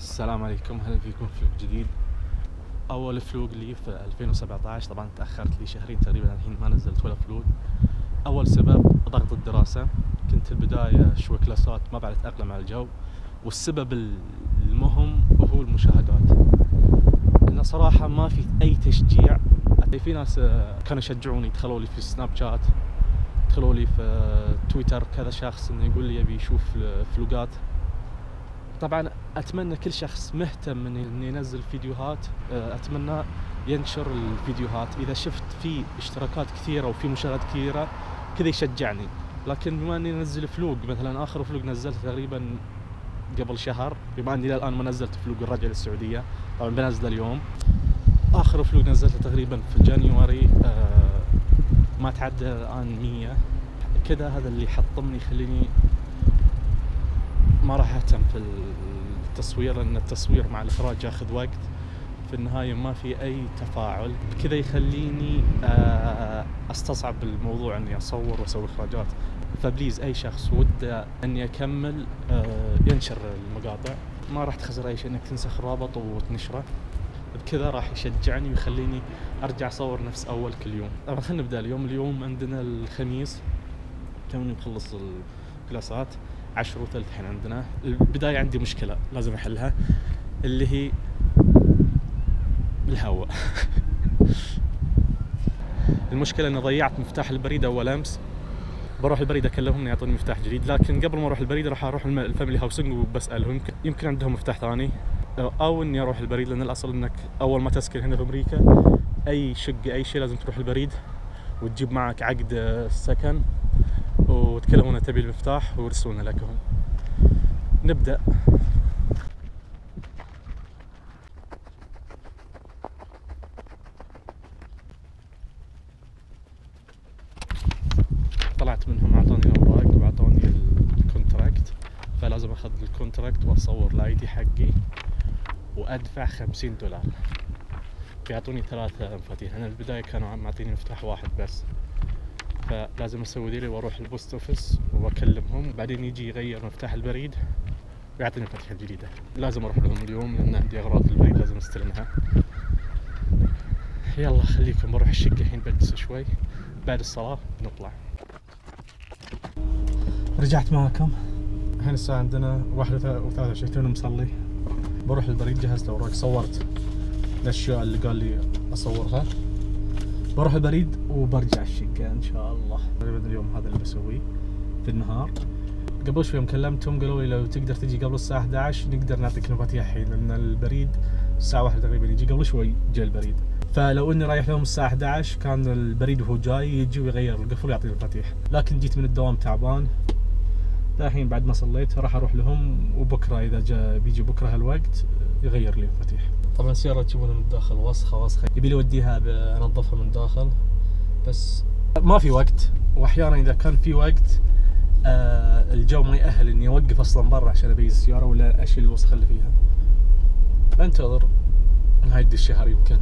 السلام عليكم، اهلا فيكم في فلوق جديد. اول فلوق لي في 2017. طبعا تاخرت لي شهرين تقريبا الحين ما نزلت ولا فلوق. اول سبب ضغط الدراسه، كنت البدايه شوي كلاسات ما بعد اتاقلم على الجو، والسبب المهم هو المشاهدات، لان صراحه ما في اي تشجيع. في ناس كانوا يشجعوني، دخلوا لي في سناب شات، دخلوا لي في تويتر، كذا شخص انه يقول لي يبي يشوف فلوقات. طبعا اتمنى كل شخص مهتم انه ينزل فيديوهات اتمنى ينشر الفيديوهات. اذا شفت في اشتراكات كثيره وفي مشاهدات كثيره كذا يشجعني. لكن بما اني انزل فلوق، مثلا اخر فلوق نزلت تقريبا قبل شهر، بما اني الان ما نزلت فلوق الرجعه للسعوديه، طبعا بنزل اليوم. اخر فلوق نزلته تقريبا في جانيوري، ما تعدى الان 100 كذا. هذا اللي حطمني يخليني ما راح اهتم في التصوير، لان التصوير مع الاخراج ياخذ وقت، في النهايه ما في اي تفاعل كذا، يخليني استصعب الموضوع اني اصور واسوي اخراجات. فبليز اي شخص وده اني اكمل ينشر المقاطع، ما راح تخسر اي شيء انك تنسخ الرابط وتنشره، بكذا راح يشجعني ويخليني ارجع اصور نفس اول كل يوم. طبعا خلينا نبدا اليوم عندنا الخميس، توني مخلص الكلاسات 10:03 الحين. عندنا البداية عندي مشكلة لازم أحلها، اللي هي الهواء. المشكلة أني ضيعت مفتاح البريد أول أمس، بروح البريد أكلمهم يعطوني مفتاح جديد، لكن قبل ما أروح البريد راح أروح الفاميلي هاوسنج وبسألهم يمكن عندهم مفتاح ثاني، أو إني أروح البريد، لأن الأصل إنك أول ما تسكن هنا في أمريكا أي شقة أي شيء لازم تروح البريد وتجيب معك عقد السكن وتكلمون تبي المفتاح ويرسلونه لك هم. نبدأ. طلعت منهم، اعطوني الاوراق واعطوني الكونتراكت، فلازم اخذ الكونتراكت واصور الاي دي حقي وادفع $50. بيعطوني 3 مفاتيح. انا البداية كانوا معطيني مفتاح واحد بس، فلازم اسوي ذيلي واروح البوست اوفيس واكلمهم، بعدين يجي يغير مفتاح البريد ويعطيني مفاتيح جديدة. لازم اروح لهم اليوم لان عندي اغراض في البريد لازم استلمها. يلا خليكم بروح الشقة الحين، بجلس شوي، بعد الصلاة بنطلع. رجعت معكم، الحين الساعة عندنا 1:23، توني مصلي. بروح البريد، جهزت اوراق، صورت الاشياء اللي قال لي اصورها، بروح البريد وبرجع الشقة ان شاء الله. تقريبا اليوم هذا اللي بسويه في النهار. قبل شوي كلمتهم قالوا لي لو تقدر تجي قبل الساعة 11 نقدر نعطيك المفاتيح الحين، لان البريد الساعة 1 تقريبا يجي، قبل شوي جاء البريد، فلو اني رايح لهم الساعة 11 كان البريد وهو جاي يجي ويغير القفل ويعطيني المفاتيح. لكن جيت من الدوام تعبان، الحين بعد ما صليت راح اروح لهم، وبكره اذا جاء بيجي بكره هالوقت يغير لي المفاتيح. طبعا السيارة تشوفونها من الداخل وسخة، يبي لي اوديها انظفها من الداخل، بس ما في وقت. واحيانا اذا كان في وقت الجو ما يأهل اني اوقف اصلا برا عشان ابيز السيارة ولا اشيل الوسخ اللي فيها. انتظر نهاية الشهر يمكن،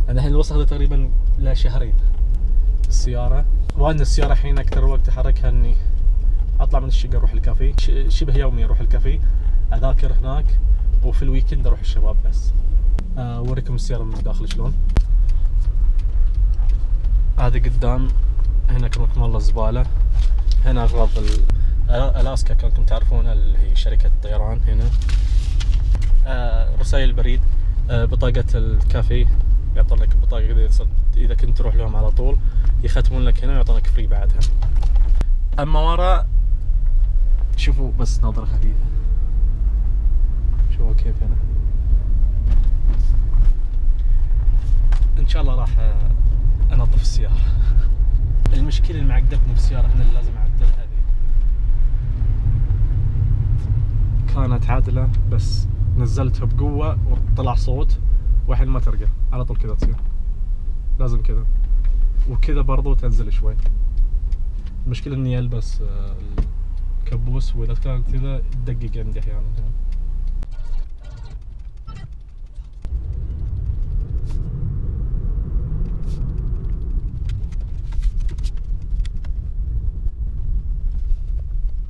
لان الحين الوسخ ده تقريبا له شهرين السيارة. وان السيارة الحين اكثر وقت احركها اني اطلع من الشقة اروح الكافي، شبه يومي اروح الكافي اذاكر هناك، وفي الويكند اروح الشباب بس. اوريكم السيارة من الداخل شلون. هذا قدام هنا كركم الله الزبالة، هنا اغراض الاسكا كانكم تعرفون اللي هي شركة الطيران. هنا رسائل البريد، بطاقة الكافي يعطون لك بطاقة اذا كنت تروح لهم على طول، يختمون لك هنا ويعطونك فري بعدها. اما ورا شوفوا بس نظرة خفيفة، شوفوا كيف هنا. ان شاء الله راح انظف السيارة. المشكلة اللي معقدتني في السيارة هنا اللي لازم اعدلها، هذه كانت عادلة بس نزلتها بقوة وطلع صوت، والحين ما ترجع على طول كذا تصير، لازم كذا وكذا برضو تنزل شوي. المشكلة اني البس الكبوس، واذا كانت كذا تدقق عندي احيانا.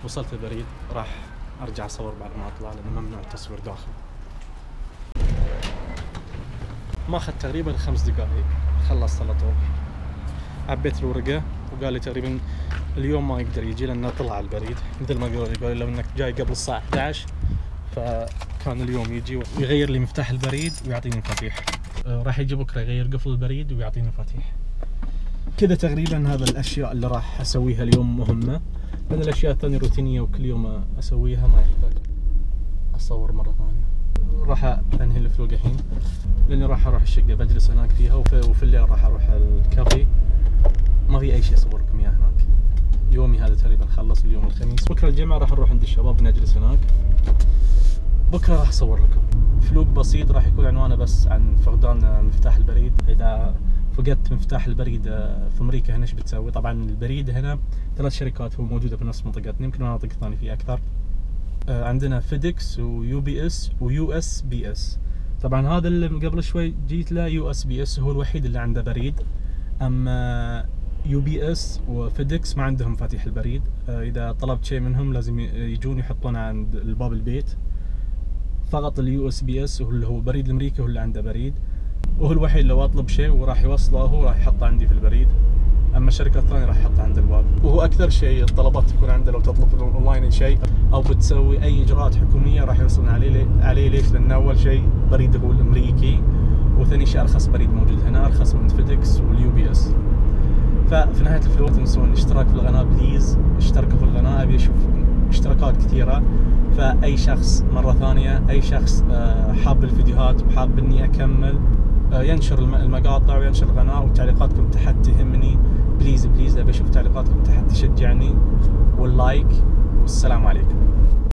وصلت البريد، راح ارجع اصور بعد ما اطلع لانه ممنوع التصوير داخل. ما أخذ تقريبا 5 دقائق خلصت على طول. عبيت الورقة وقال لي تقريبا اليوم ما يقدر يجي لأنه طلع البريد، مثل ما قالوا لو إنك جاي قبل الساعة 11 فكان اليوم يجي ويغير لي مفتاح البريد ويعطيني مفاتيح. راح يجي بكرة يغير قفل البريد ويعطيني مفاتيح. كذا تقريبا هذا الأشياء اللي راح أسويها اليوم مهمة، لأن الأشياء الثانية روتينية وكل يوم أسويها ما يحتاج أصور مرة ثانية. راح أنهي الفلوق الحين لأني راح أروح الشقة بجلس هناك فيها، وفي الليل راح أروح الكافي. ما في أي شيء أصور لكم إياه هناك. يومي هذا تقريبا خلص اليوم الخميس. بكرة الجمعة راح نروح عند الشباب نجلس هناك. بكرة راح أصور لكم فلوق بسيط، راح يكون عنوانه بس عن فقدان مفتاح البريد. إذا فقدت مفتاح البريد في أمريكا هنا إيش بتسوي؟ طبعا البريد هنا 3 شركات هو موجودة في نفس منطقتنا، يمكن مناطق ثانية فيه أكثر. عندنا فيدكس ويو بي اس ويو اس بي اس. طبعا هذا اللي قبل شوي جيت له يو اس بي اس هو الوحيد اللي عنده بريد، اما يو بي اس وفيدكس ما عندهم مفاتيح البريد. اذا طلبت شيء منهم لازم يجون يحطونه عند الباب البيت. فقط اليو اس بي اس اللي هو بريد الامريكي هو اللي عنده بريد، وهو الوحيد لو اطلب شيء وراح يوصله هو راح يحطه عندي في البريد، اما الشركه الثانيه راح يحطها عند الباب. وهو اكثر شيء الطلبات تكون عنده لو تطلب اونلاين شيء او بتسوي اي اجراءات حكوميه راح يوصلنا عليه. ليش؟ لان اول شيء بريده هو الامريكي، وثاني شيء ارخص بريد موجود هنا، ارخص من فيدكس واليو بي اس. ففي نهايه الفيديو لا تنسون الاشتراك في القناه، بليز اشتركوا في القناه، ابي اشوف اشتراكات كثيره. فاي شخص مره ثانيه اي شخص حاب الفيديوهات وحاب اني اكمل ينشر المقاطع وينشر القناه، وتعليقاتكم تحت تهمني. بليز ابي اشوف تعليقاتكم تحت تشجعني، واللايك. والسلام عليكم.